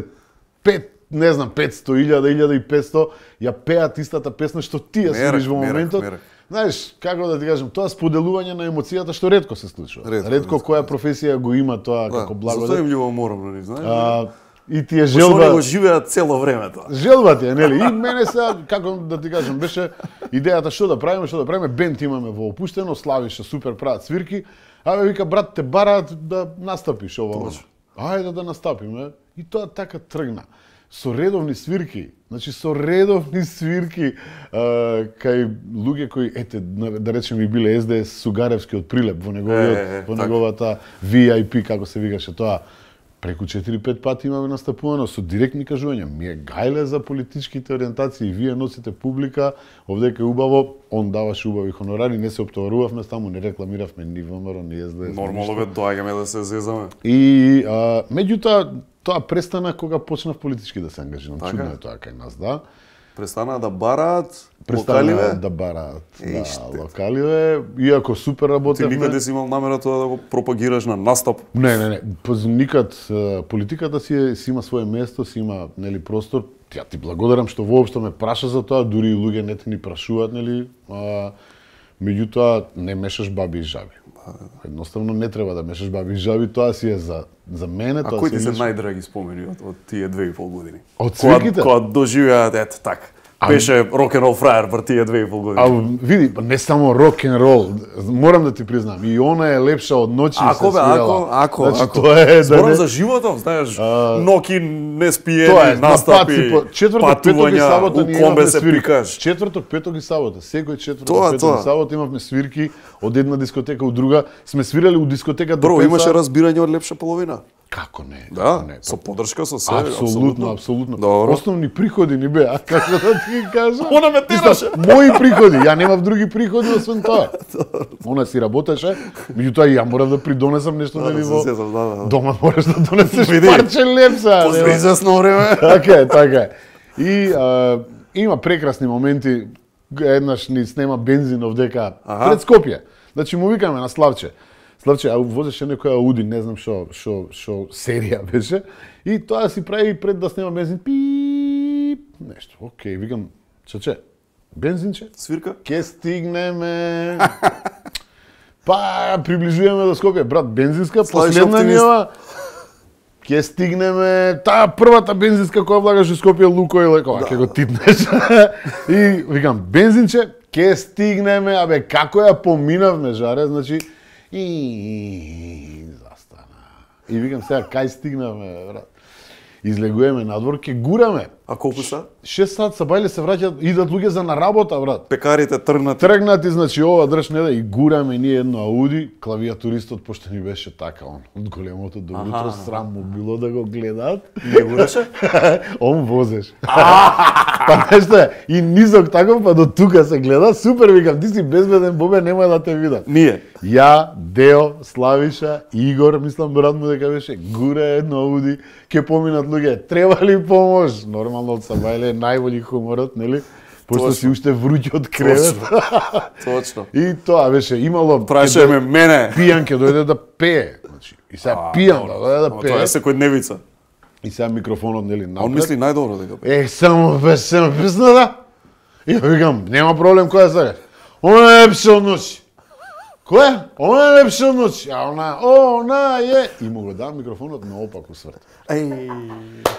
пет не знам, петсто, илјада, илјада и петсто, ја пеат истата песна што ти ја свириш во моментот. Мерак, мерак. Знаеш, како да ти кажам, тоа споделување на емоцијата што ретко се случува. Ретко, ретко која професија го има тоа да, како благодат. Затоа им љубоморам, нели, знаеш? А, и ти е желба. Пошто го живеат цело време тоа. Желба ти е, нели? И мене сега, како да ти кажам, беше идејата што да правиме, што да правиме, бенд имаме во опуштено, Славиша супер прават свирки. Абе вика брат, те бараат да настапиш ова. Ајде да настапиме. И тоа така тргна. Со редовни свирки, значи со редовни свирки а, кај луѓе кои, ете, да речем и биле Ес Де Ес Сугаревски од Прилеп во неговиот, е, е, во неговата Ви Ај Пи, како се викаше тоа, преку четири-пет пати имаме настапувано со директни кажувања. Ми е гајле за политичките ориентации, вие носите публика, овдека е убаво, он даваше убави хонорари, не се оптоварувавме таму, не рекламиравме ни ВМРО, ни Ес Де Ес. Нормално бе, доаѓаме да се зезаме. И а, меѓутоа тоа престана кога почнав политички да се ангажирам. Така? Чудно е тоа кај нас, да. Престана да бараат Престана локаливе? да бараат, да, локаливе, иако супер работевме. Ти никаде си имал намера тоа да го пропагираш на настап? Не, не, не, никад политиката си, е, си има свое место, си има, нели, простор. Ја ти благодарам што воопшто ме праша за тоа, дури и луѓе не те ни прашуваат, нели, а, меѓутоа не мешаш баби и жаби. Едноставно не треба да мешаш баби и жаби, тоа си е за за мене, а тоа кои ти се лично... најдраги спомени од, од тие две и пол години? Од свирките? Кога, кога доживеат, ето така. Беше рок-н-рол фраер бар тие две и пол години. А види, не само рок-н-рол, морам да ти признам, и она е лепша од ноќи ако, се свирала. Ако, ако, значи, ако. Тоа е, Зборам да не... за животот, знаеш, а... ноки не спиени, тоа е, настапи, по... четврток, петок и сабота у комбе се пикаш. Четврток, петок и сабота, секој четврток, тоа, петок тоа. и сабота имавме свирки од една дискотека у друга. Сме свирали у дискотека до Бро, пеца. имаше разбирање од лепша половина. Како не? Да, како не? со подршка, со се. Апсолутно, апсолутно. Добро. Основни приходи ни беа, како да ти кажам. Она ме тераше. Мои приходи, ја немав други приходи освен тоа. Она си работеше, меѓутоа ја морав да придонесам нешто на ниво. Дома мораш да донесеш парче лепса. После известно време. Така е, така е. И а, има прекрасни моменти. Еднаш ни снема бензин овдека пред Скопје. Значи му викаме на Славче. Славче, а возеше некоја Ауди, не знам што, што, што серија беше, и тоа си прави пред да снема бензин, пип, нешто. Океј, викам, чаче, бензинче? Свирка? Ке стигнеме. Па, приближуваме до Скопје, брат, бензинска, последна нива. Ке стигнеме, таа првата бензинска која влагаш во Скопје, Лукойл, кога ќе го типнеш. И викам, бензинче, ке стигнеме, абе, како ја поминавме, жаре, значи, и застана. И викам сега кај стигнаме, брат. Излегуваме надвор, ке гураме. А колку са? шест сат са бајле се враќаат, идат луѓе за на работа, брат. Пекарите тргнати. Тргнати, значи ова држ не да и гураме ние едно Ауди, клавиатуристот пошто ни беше така он од големото до утро срам му било да го гледаат. Не гураше? Он возеше. Па нешто е, и низок таков, па до тука се гледа, супер, викам, ти си безбеден, Бобе, нема да те видам. Ние? Ја, Део, Славиша, Игор, мислам брат му дека беше, гуре едно Ауди, ке поминат луѓе, треба ли помош? Нормално од Сабајле е најболи хуморот, нели? Пошто си уште вруќ од кревет. Точно. И тоа беше имало Праше ме мене. Пијан ќе дојде да пее. Значи, и сега пијан да дојде да пее. Тоа е секојдневица. И сега микрофонот нели напред. Он мисли најдобро дека. Е, само песна, песна да. И викам, нема проблем која сакаш. Она е лепше од ноќ. Која? Она е лепше од ноќ. А она, она е. И му го дам микрофонот наопаку сврт. Еј.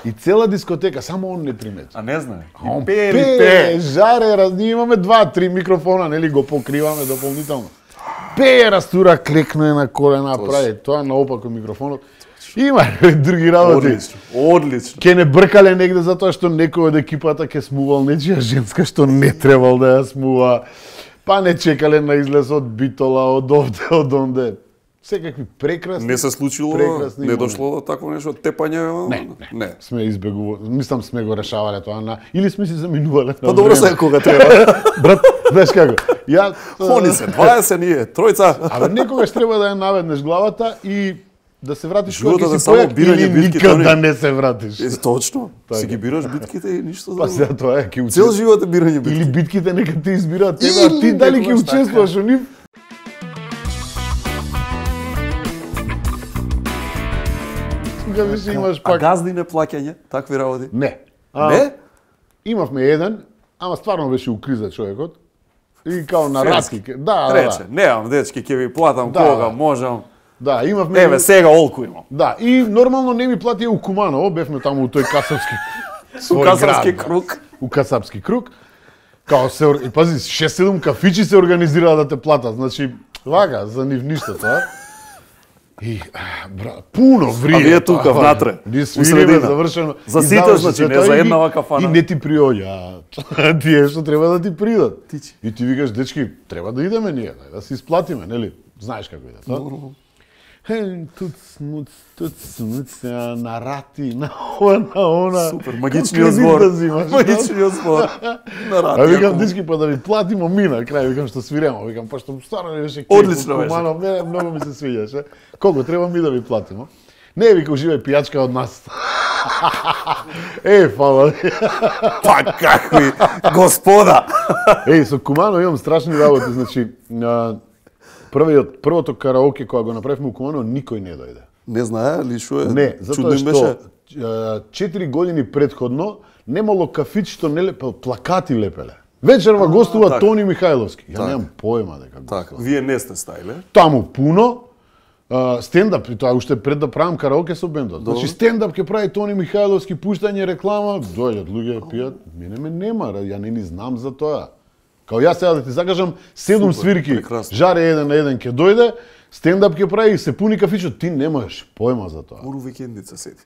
И цела дискотека, само он не примети. А не знае. А он пее, пее, пее. жаре, раз, ние имаме два, три микрофона, нели го покриваме дополнително. Пее, растура, клекне на колена, прави тоа наопаку микрофонот. Има други работи. Одлично, одлично. Ке не бркале негде затоа што некој од екипата ке смувал нечија женска што не требал да ја смува. Па не чекале на излез од Битола, од овде, од онде. Секакви прекрасни. Не се случило, прекрасни не дошло до такво нешто тепање. Не, не, не. Сме избегували, мислам сме го решавале тоа на или сме си заминувале. Па добро се кога треба. Брат, знаеш како? Ја Они се дваесет ние, тројца. Абе некогаш треба да ја наведнеш главата и да се вратиш Животот кога е си само појак бирање или битките, никад они- да не се вратиш. Е, точно. Си ги бираш битките и ништо Па друго. сега тоа е, ќе Цел живот е бирање битки. Или битките нека те избираат тебе, а ти Или дали ќе некогаш учествуваш во нив? Кога више имаш А пак... газди не плаќање, такви работи? Не. А, Не? Имавме еден, ама стварно беше у криза човекот. И као на Френски. ратки. Да, да, Рече, да. немам дечки, ќе ви платам Да. кога можам. Да, имавме... Еве, сега олку имам. Да, и нормално не ми платија у Куманово, бевме таму у тој касапски... У свој Касапски град, да. круг. У Касапски круг. Као се, ор- и пази, шест-седум кафичи се организираа да те платат, значи, вака, за нив ништо тоа. И, а, бра, пуно врие. А вие тоа, тука, вака. внатре, Ние у свириме, средина. завршено. За И сите, заврши значи, се не тоа за и еднава ги- кафана. И не ти приоѓаат. Тие што треба да ти придат. И ти викаш, дечки, треба да идеме ние, да се исплатиме, нели? Знаеш како иде, тоа? Хе, туц, муц, туц, муц, а, на рати, на ова, на она. Супер, магичниот Кредит збор. да взимаш, да? Магичниот збор. На рати, А викам, ако- дечки, па да ви платимо мина, крај, викам, што свиремо. Викам, па што старо не беше Одлично беше. Куманов, не, многу ми се свиѓаше. Колку треба ми да ви платимо? Не, вика, уживај пијачка од нас. Е, фала. Па какви господа. Еј, со Кумано имам страшни работи, значи, а, првиот, првото караоке кога го направивме у Кумано, никој не дојде. Не знае ли што е? Не, затоа Чудно им што беше. а, четири години предходно немало кафич што не лепел, плакати лепеле. Вечерва гостува така. Тони Михајловски. Ја Така. немам појма дека Така, вие не сте стаиле. таму пуно, а, стендап, и тоа уште пред да правам караоке со бендот. Добро. Значи стендап ќе прави Тони Михајловски, пуштање реклама, дојдат луѓе пијат, мене ме нема, ја не ни знам за тоа. Као јас сега да ти закажам седум Супер, свирки, прекрасно. жаре еден на еден ќе дојде, стендап ќе прави, се пуни кафичот, ти немаш појма за тоа. Уру викендица седи.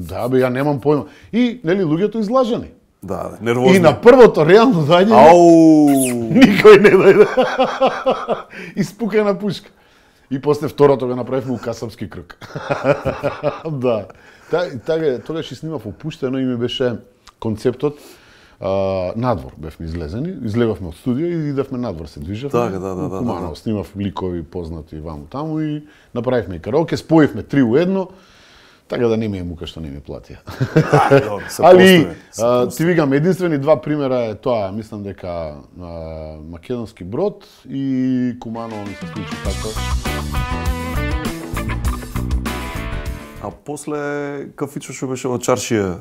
Да бе, ја немам појма. И нели луѓето излажани. Да, да, нервозни. И на првото реално доаѓање Ау! никој не дојде. Испукана пушка. И после второто го направивме у Касапски круг. Да. Та, тага, тогаш и снимав опуштено и ми беше концептот а, надвор бевме излезени, излегавме од студио и идевме надвор, се движевме. Така, да, да, да, Куманово, да. снимав ликови познати ваму таму и направивме и караоке, споивме три у едно. Така да не ми е мука што не ми платија. добро, се Али, постои, се а, постои. ти викам, единствени два примера е тоа, мислам дека а, Македонски брод и Куманово ми се случи така. А после кафичо што беше во Чаршија,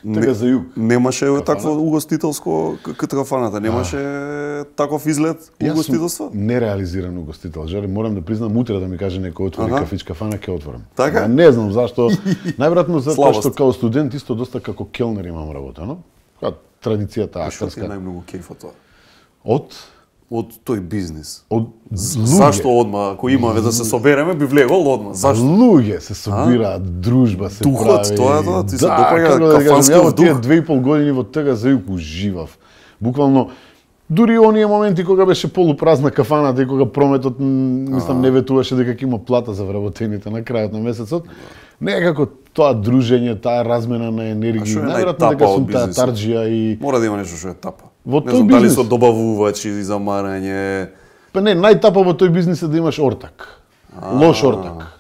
Така за југ. Немаше Кафана? такво угостителско к- кај кафаната, немаше таков изглед Јас угостителство? сум нереализиран угостител. Жаре, морам да признам, утре да ми каже некој отвори Аха. кафич кафана, ќе отворам. Така? А, не знам зашто. Најверојатно затоа Слабост. што као студент исто доста како келнер имам работено. Која традицијата А што ти е актерска. најмногу кејф од тоа? Од Од тој бизнис. Од З- луѓе. Зашто одма, ако имаме да се собереме, би влегол одма. Зашто? Луѓе се собираат, дружба се Духот, прави. тоа е тоа, ти се да, допаѓа како да кажам, кафанскиот ја во тие дух. две и пол години во тага за јук уживав. Буквално дури оние моменти кога беше полупразна кафаната и кога прометот м, мислам не ветуваше дека ќе има плата за вработените на крајот на месецот, некако тоа дружење, таа размена на А енергија, што е најверојатно најтапа дека од сум таа бизнисот? тарџија и Мора да има нешто што е тапа. Во не тој знам дали бизнис. со добавувачи за марање. па не, најтапа во тој бизнис е да имаш ортак. Лош ортак.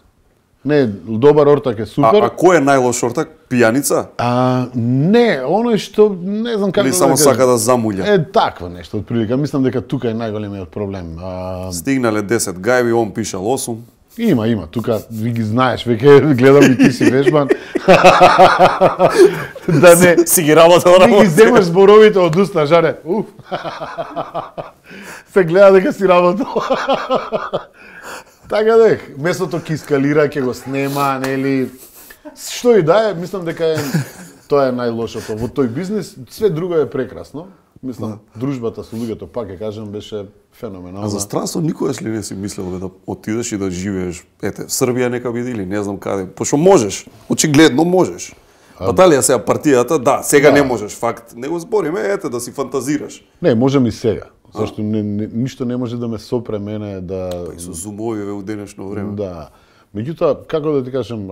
Не, добар ортак е супер. А, а кој е најлош ортак? Пијаница? А, не, оној што не знам како или само да сака да замулја. Е такво нешто отприлика. Мислам дека тука е најголемиот проблем. А... Стигнале десет гајби, он пишал осум. Има, има. Тука ви ги знаеш, веќе гледам и ти си вежбан. Да не си ги работел на. Ти ги земаш зборовите од уста, жаре. Уф. Се гледа дека си работел. Така дек, местото ќе искалира, ќе го снема, нели. Што и да е, мислам дека е тоа е најлошото во тој бизнис, све друго е прекрасно. Мислам, дружбата со луѓето, пак ќе кажам, беше феноменална. А за странство никогаш ли не си мислел да отидеш и да живееш, ете, Србија нека биде или не знам каде, пошто можеш, очигледно можеш. Па дали ја сега партијата, да, сега да. Не можеш, факт, не го збориме, ете, да си фантазираш. Не, можем и сега. Зашто не, не, ништо не може да ме сопре мене да... Па и со зумовиве у денешно време. Да. Меѓутоа, како да ти кажам,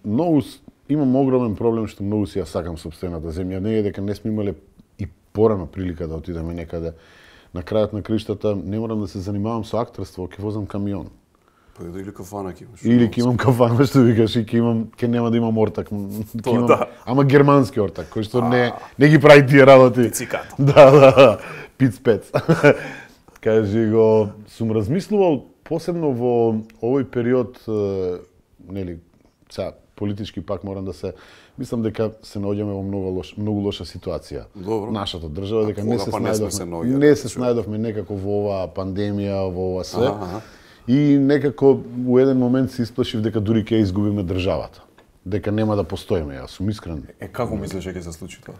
многу, имам огромен проблем што многу си ја сакам сопствената земја. Не е дека не сме имале и порано прилика да отидеме некаде. На крајот на криштата не морам да се занимавам со актерство, ќе возам камион. Па или кафана ќе имаш. Или ќе имам кафана, што викаш, и ќе имам, ќе нема да имам ортак. Тоа, имам, да. Ама германски ортак, кој што не, не ги прави тие работи. Пициката. Да, да, пиц-пец. Кажи го, сум размислувал, посебно во овој период, нели, сега, политички пак морам да се, мислам дека се наоѓаме во многу лош, многу лоша ситуација. Добро. Нашата држава, дека не се па снајдовме, се, не се снајдовме некако во оваа пандемија, во ова све. Ага. И некако у еден момент се исплашив дека дури ќе изгубиме државата. Дека нема да постоиме, јас сум искрен. Е, како мислиш дека ќе се случи тоа?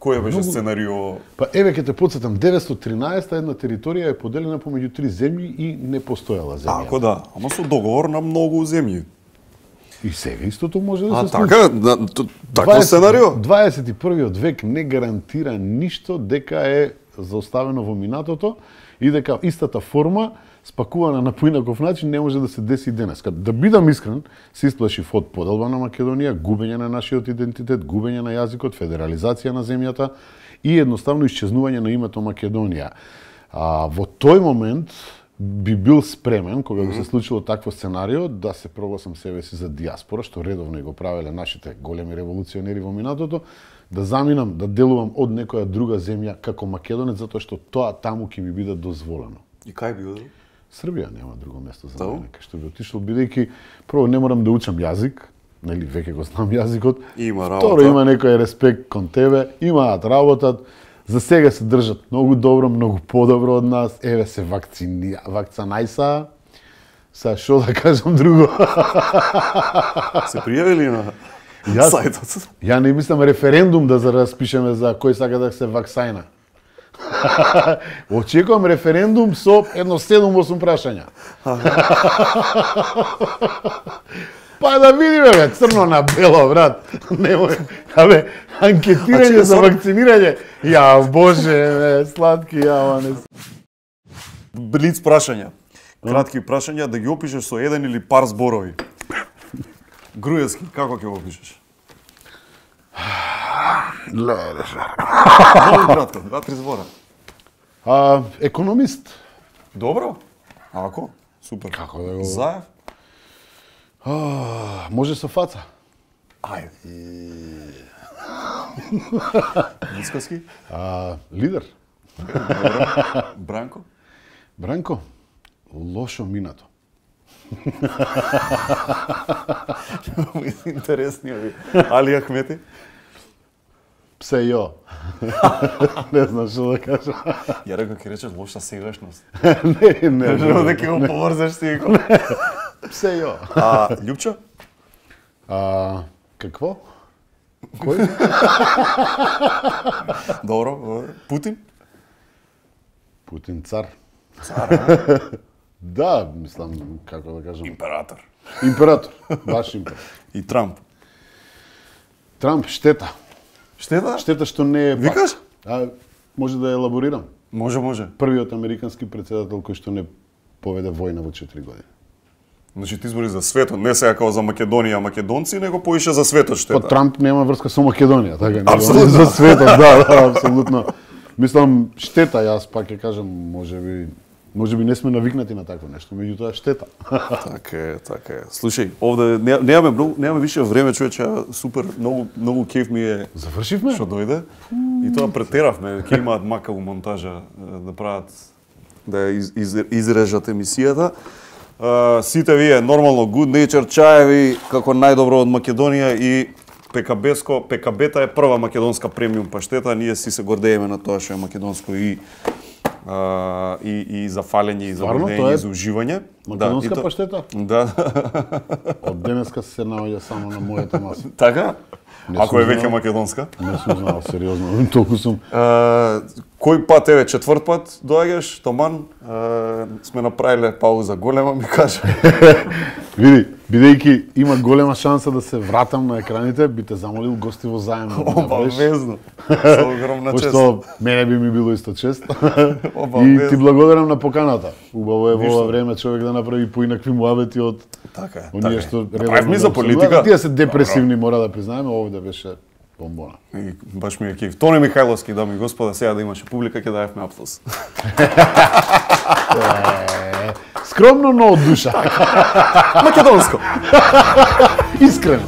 Кој беше Многу... сценарио? Па еве ќе те потсетам, деветстотини и тринаесета една територија е поделена помеѓу три земји и не постоела земја. Ако да, ама со договор на многу земји. И сега истото може да а, се случи. Така, да, такво сценарио? дваесет и првиот век не гарантира ништо дека е заоставено во минатото и дека истата форма спакувана на поинаков начин не може да се деси денес. Да бидам искрен, се исплашив од поделба на Македонија, губење на нашиот идентитет, губење на јазикот, федерализација на земјата и едноставно исчезнување на името Македонија. А, во тој момент би бил спремен, кога би се случило такво сценарио, да се прогласам себе си за диаспора, што редовно и го правеле нашите големи револуционери во минатото, да заминам, да делувам од некоја друга земја како македонец, затоа што тоа таму ќе ми биде дозволено. И кај би одел? Србија нема друго место за мене, кај што би отишол, бидејќи прво не морам да учам јазик, нели веќе го знам јазикот. Има работа. Второ има некој респект кон тебе, имаат работат. За сега се држат многу добро, многу подобро од нас. Еве се вакцини, вакцанајса. Са шо да кажам друго? Се пријавили на Јас, сајтот? Ја не мислам референдум да распишеме за кој сака да се ваксајна. Очекувам референдум со едно седум-осум прашања. Па да видиме, бе, црно на бело, брат. Немој, абе, анкетирање за вакцинирање. Ја, боже, бе, сладки, ја, не. Блиц прашања. Кратки прашања да ги опишеш со еден или пар зборови. Груевски, како ќе го опишеш? Леле. Много кратко, два-три збора. А, економист. Добро. Ако? Супер. Како да го... Заев? А, може со фаца. Ајде. Искоски? А, лидер. Добро. Бранко? Бранко? Лошо минато. Интересни ови. Али Ахмети? Псе јо. Не знам што да кажам. Ја рекол ќе речеш лоша сегашност. Не, не. Жел дека го поврзаш си го. Псе јо. А, Љупчо? А, какво? Кој? Добро, добро. Путин? Путин цар. Цар, а? Да, мислам, како да кажам... Император. Император, баш император. И Трамп? Трамп, штета. Штета? Штета што не е... Викаш? А, може да елаборирам? Може, може. Првиот американски председател кој што не поведе војна во четири години. Значи ти збори за светот, не сега како за Македонија, македонци, него поише за светот штета. Па Трамп нема врска со Македонија, така не. Апсолутно. За светот, да, да, апсолутно. Мислам, штета, јас пак ќе кажам, можеби Може би не сме навикнати на такво нешто, меѓутоа штета. Така е, така е. Слушај, овде не- немаме многу, немаме више време, човече, супер, многу многу кеф ми е. Завршивме? Што дојде. И тоа претеравме, ќе имаат макаву монтажа е, да прават да ја из, из, изрежат емисијата. Uh, сите вие нормално Good Nature чаеви како најдобро од Македонија и ПКБско, ПКБ-та е прва македонска премиум паштета, ние си се гордееме на тоа што е македонско и uh, и и за фалење и за Стварно, гордење тоа е и за уживање. македонска и то- паштета? Да. Од денеска се наоѓа само на мојата маса. Така? Не Ако сум е веќе знал. македонска? Не сум знал, сериозно, толку сум. Uh, кој пат, еве, четврт пат доаѓаш, Томан, uh, сме направиле пауза голема, ми кажа. Види, бидејќи има голема шанса да се вратам на екраните, би те замолил гостиво заемно. да направиш. Обавезно. Со огромна чест. Пошто мене би ми било исто чест. И Обавезно. ти благодарам на поканата. Убаво е во Ништо. ова време човек да направи поинакви муабети од Така е, оние така е. што Направивме за да политика. обсудуваат. Тие се депресивни, мора да признаеме, овде беше бомбона. И баш ми е кеф. Тони Михајловски, дами и господа, сега да имаше публика, ќе даевме аплауз. Е, скромно, но од душа. Македонско. Искрено.